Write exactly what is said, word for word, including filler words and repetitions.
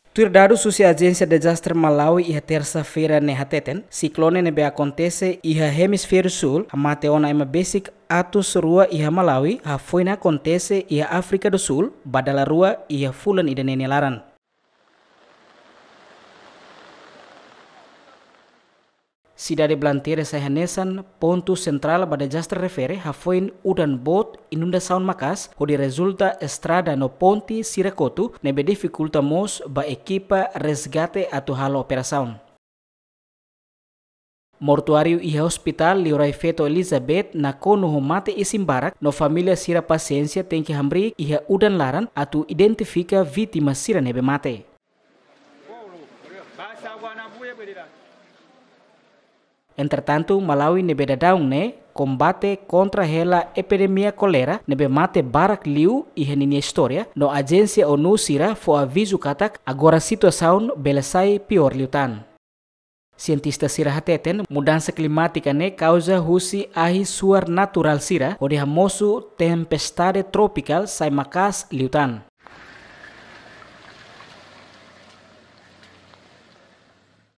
Tuir dadus husi Ajénsia Dezastre Malawi iha tersa-feira ne'e hateten, siklone ne'ebé akontese iha Hemisfériu Súl hamate ona ema besik atus rua iha Malawi, hafoin akontese iha Áfrika do Súl, ba dala rua iha fulan ida-ne'e nia laran. Sidade Blantyre sai hanesan pontu sentrál ba dezastre refere, hafoin udan boot, inundasaun maka'as, hodi rezulta estrada no ponte sira kotu, ne'ebé difikulta mós ba ekipa resgate atu halo operasaun. Mortuáriu iha Hospital Liurai Feto Elizabeth nakonu ho mate isin barak, no família sira pasiénsia tenke hamriik iha udan laran atu identifika vítima sira ne'ebé mate. Entretantu, Malawi ne'ebé daudaun ne'e kombate kontra hela epidemia kolera ne'ebé mate barak liu iha ninia istória, no ajénsia ONU sira fó avizu katak agora situasaun bele sai piór liután. Sientista sira hateten, mudansa klimátika ne'e kauza husi ahi suar naturál sira, hodi hamosu tempestade tropikál sai maka'as liután.